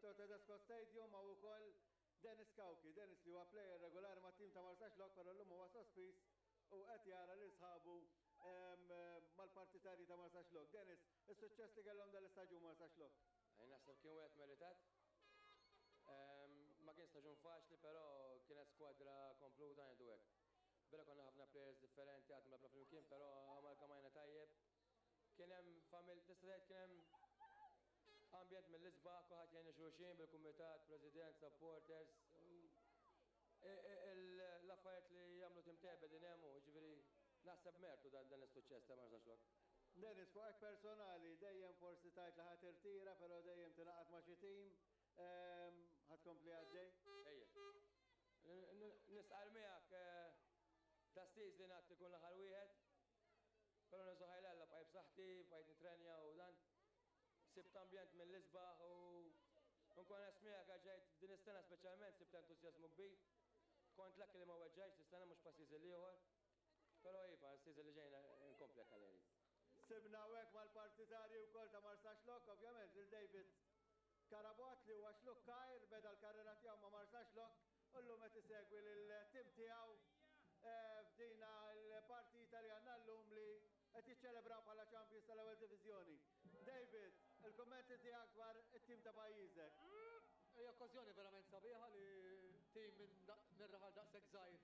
fil-Victor Tedesco Stadium hawn ukoll Dennis Cauchi. Dennis li huwa plejer regolari mat-tim ta' Marsaxlokk però llum huwa sospiż u qed jara lil sħabu mal-partitarji ta' Marsaxlokk. Dennis, is-suċċess li kellhom dal-istaġun Marsaxlokk? Naħseb kien wieħed meritat. Ma kien staġun faċli però kienet skwadra kompluta ngħidu hekk. Vera konna ħafna players differenti qatt ma lgħabna flimkien però amalgamajna tajjeb. Kien hemm famil tista' tgħid kien hemm ambjent mill-isbaħ, kulħadd jgħin xulxin bil-kumitat, president, supporters. L-affarijiet li jagħmlu tim tajjeb qegħdin hemm u ġifieri naħseb mertu dan dan is-suċċess ta' Marsaxlokk. Dennis, fuq hekk personali, dejjem forsi tgħid li ħa tirtira, però dejjem tingħaqad ma' xi tim, ħa tkompli għaddej? Ejja. Nistqarr miegħek ta' season għad ikun l-aħħar wieħed. Però niżu ħajl Alla bqajt b'saħħti, bqajt nitrenja u dan. Sibt ambjent mill-isbaħ u nkun onest miegħek għax ġejt din is-sena speċjalment sibt entużjażmu kbir. Kont lucky li ma weġġajtx dis-sena mhux pa' season l-ieħor. Però iva, s-season li ġejna nkompli hekk għal Sibna hawnhekk mal-partitarji wkoll ta' Marsaxlokk, ovvjament lil David Carabott li huwa Xlukkajr, beda l-karriera tiegħu ma' Marsaxlokk u llum qed isegwi lill-tim tiegħu f'dina l-partita li għandna llum li qed jiċċelebraw bħala champions tal-ewwel diviżjoni. David, il-kummenti tiegħek dwar it-tim ta' pajjiżek. Hija okkażjoni verament sabiħa li tim minn raħal daqshekk żgħir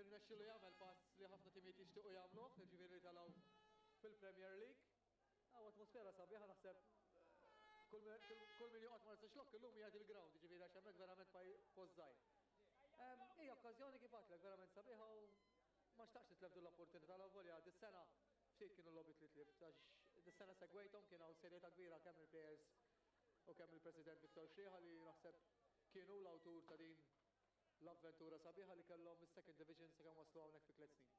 irnexxielu jagħmel pass li ħafna timijiet jixtiequ jagħmluh, jiġifieri li telgħu fil-Premier League. Hawn atmosfera sabiħa naħseb kull min joqgħod Marsaxlokk illum jgħid il-ground, jiġifieri għax hemmhekk verament post żgħir. Hija okkażjoni kif għedtlek verament sabiħa u ma xtaqx nitlef din l-opportunità l volja dis-sena ftit kienu l-logħbiet li tlift għax dis-sena segwejthom kien hawn serjetà kbira kemm il-players u kemm il-President Victor Sciriha li naħseb kienu l-awtur ta' din l-avventura sabiħa li kellhom mis-second division sakemm waslu hawnhekk fi tliet snin.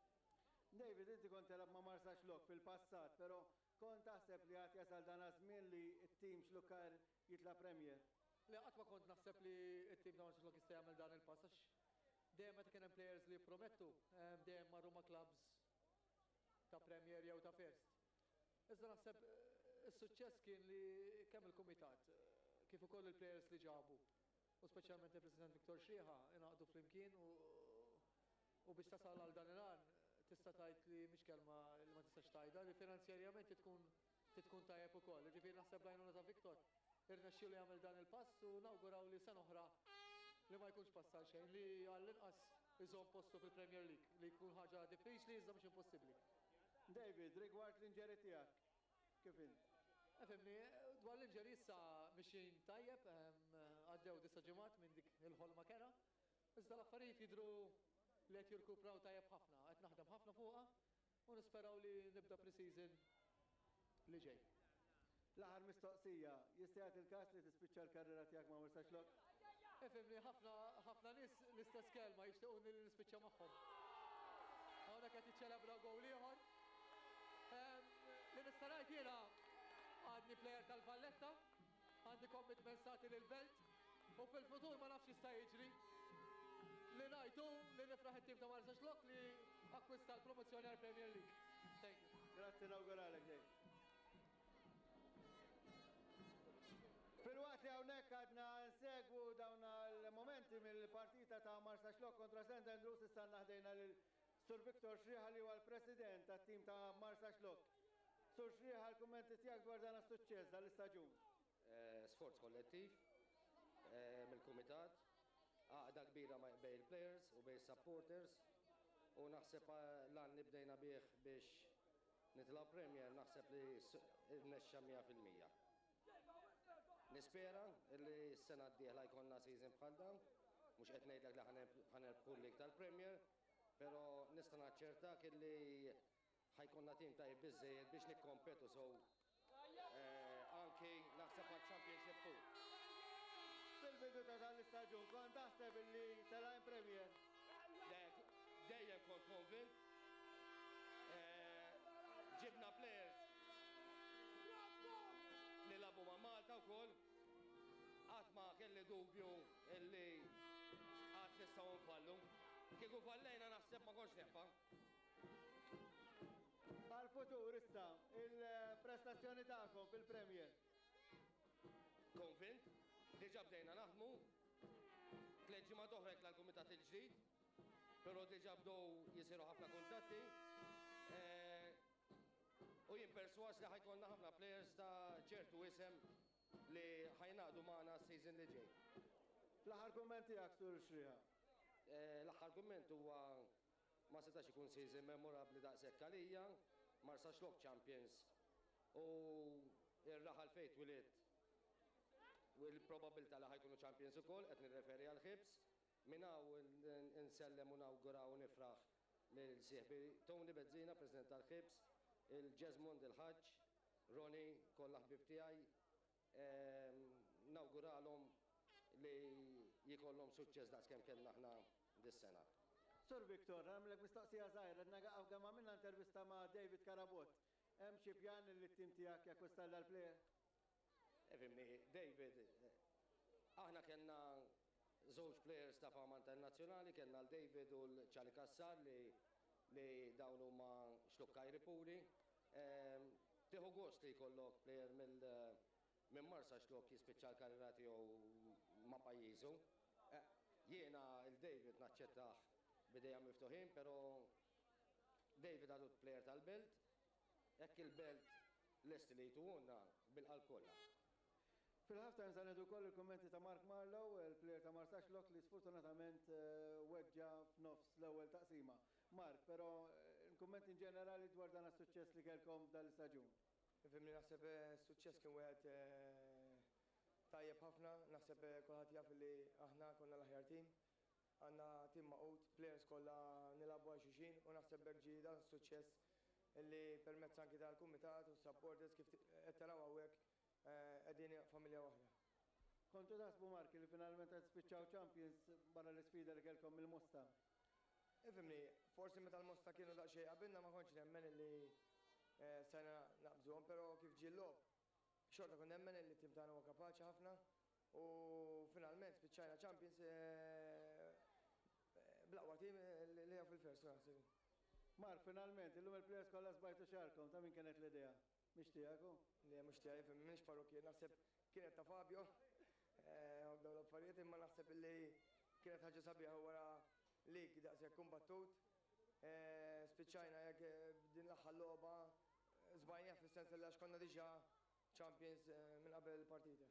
David, inti kont telgħab ma' Marsaxlokk fil-passat, però kont taħseb li għad jasal dan għaż-żmien li t-tim Xlukkajr jitla' Premier? Le, qatt ma kont naħseb li t-tim ta' Marsaxlokk jista' jagħmel dan il-pass għax dejjem meta kien hemm players li jippromettu, dejjem marru ma' clubs ta' Premier jew ta' First. Iżda naħseb is-suċċess kien li kemm il-kumitat kif ukoll il-players li ġabu u speċjalment il-President Victor Sciriha ingħaqdu flimkien u u biex tasal għal dan il-għan tista' tgħid li mhix kelma li ma tistax tgħidha li finanzjarjament tkun tkun tajjeb ukoll. Ġifieri naħseb l-għajnuna ta' Victor irnexxielu jagħmel dan il-pass u nawguraw li sena oħra li ma jkunx pass għal xejn li għall-inqas iżomm postu fil-Premier League li jkun ħaġa diffiċli iżda mhux impossibbli. David, rigward l-injury tiegħek, kif int? Ifhimni, dwar l-injury issa mixjin tajjeb, għaddew disa' ġimgħat minn dik il-ħolma kerha. Iżda l-affarijiet jidhru li qed jirkupraw tajjeb ħafna, qed naħdem ħafna fuqha u nisperaw li nibda pre-season li ġej. L-aħħar mistoqsija, jista' jagħti l-każ li tispiċċa l-karriera tiegħek ma' Marsaxlokk? Ifhimni, ħafna ħafna nies l-istess kelma jixtiequni li nispiċċa magħhom. Hawnhekk qed jiċċelebraw gowl ieħor. Li nista' ngħid jiena għadni plejer tal-Valletta, għandi commitment sati lill-Belt u fil-futur ma nafx jista' jiġri. Li ngħid hu li nifraħ it-tim ta' Marsaxlokk li akkwista l-promozzjoni għall-Premier League. Thank you. Grazzi nawguralek Dave. Filwaqt li hawnhekk għadna nsegwu dawn il-momenti mill-partita ta' Marsaxlokk kontra St. Andrews issa ħdejna lil Sur Victor Sciriha li huwa l-president tat-tim ta' Marsaxlokk. Sur Sciriha l-kummenti tiegħek dwar dan is-suċċess dal-istaġun. Sforz kollettiv mill-kumitat, għaqda kbira bejn il-players u bejn supporters u naħseb l-għan li bdejna bih biex nitilgħu Premier naħseb li rnexxa 100%. Nispera li s-sena d-dieħla jkollna season bħal dan, mhux qed ngħidlek li ħa nirbħu l-League tal-Premier, però nista' naċċertak illi ħa jkollna tim tajjeb biżejjed biex nikkompetu so anki naħseb għal Championship 2. Fil-bidu ta' dan l-istaġun kont taħseb illi telgħin Premier? Dejjem kont konvint. Ġibna players li lagħbu ma' Malta wkoll. Qatt ma kelli dubju illi qatt nistgħu nfallu. Kieku fallejna naħseb ma kontx nibqa'. Għal-futur issa, il-prestazzjoni tagħkom fil-Premier. Konvint? Diġà bdejna naħdmu, tlett ġimgħat oħra jitla' l-kumitat il-ġdid, però diġà bdew jisiru ħafna kuntatti. U jien persważ li ħa jkollna ħafna players ta' ċertu isem li ħa jingħaqdu magħna s-season li ġej. L-aħħar kumment tiegħek, Sur Xriha. L-aħħar kumment huwa ma setax ikun season memorabbli daqshekk għalija, Marsaxlokk champions u r-raħal fejn twilidt u l-probabbiltà li ħa jkunu champions ukoll, qed nirreferi għall-Ħibs. Minn hawn insellem u nawgura u nifraħ lil sieħbi Tony Bezzina, President tal-Ħibs, il-Jesmond il-Ħaġġ, Ronnie, kollha ħbieb tiegħi. Nawguralhom li jkollhom suċċess daqskemm kellna aħna dis-sena. Sur Victor, nagħmlek mistoqsija żgħira, qed kemm għamilna intervista ma' David Carabott. Hemm xi pjan li t-tim tiegħek jakkwista dal-player? Ifhimni, David, aħna kellna żewġ players ta' fama internazzjonali, kellna l-David u l-Charlie Cassar li dawn huma xlukkajri puri. Tieħu gost li jkollok player minn Marsaxlokk jispiċċa l-karriera tiegħu ma' pajjiżu. Jiena il-David naċċettah b'idejja miftuħin, però David għadu player tal-Belt, jekk il-Belt lesti li jtuhulna bil-qalb kollha. Fil-half time sa nieħdu wkoll il-kummenti ta' Mark Marlow, il-player ta' Marsaxlokk li sfortunatament weġġa f'nofs l-ewwel taqsima. Mark, però il-kummenti in ġenerali dwar dan is-suċċess li kellkom f'dan l-istaġun. Ifhimni, naħseb suċċess kien wieħed tajjeb ħafna, naħseb kulħadd jaf li aħna konna l-aħjar tim. Għandna tim magħqud, players kollha nilagħbu għal xulxin u naħseb b'hekk ġie dan is-suċċess li permezz anki tal-kumitat u supporters, kif qed taraw hawnhekk, qegħdin familja waħda. Kontu taħsbu, Mark, li finalment qed spiċċaw champions barra l-isfida li kellkom mill-Mosta? Ifhimni, forsi meta l-Mosta kienu daqsxejn qabilna ma kontx nemmen li stajna naqbżuhom, però kif ġie l-logħob xorta kont nemmen li t-tim tagħna huwa kapaċi ħafna u finalment spiċċajna champions bl-aqwa tim li hija fil-First, naħseb. Mark, finalment, illum il-players kollha żbajtu xagħarkom, ta' min kienet l-idea? Mhix tiegħek hu? Le, mhux tiegħi, ifhem, m'iniex parrukkier, naħseb kienet ta' Fabio. U dawn l-affarijiet, imma naħseb illi kienet ħaġa sabiħa wara lig daqshekk kumbattut. Spiċċajna hekk b'din l-aħħar logħba żbajnieh fis-sens li għax konna diġà champions minn qabel il-partita.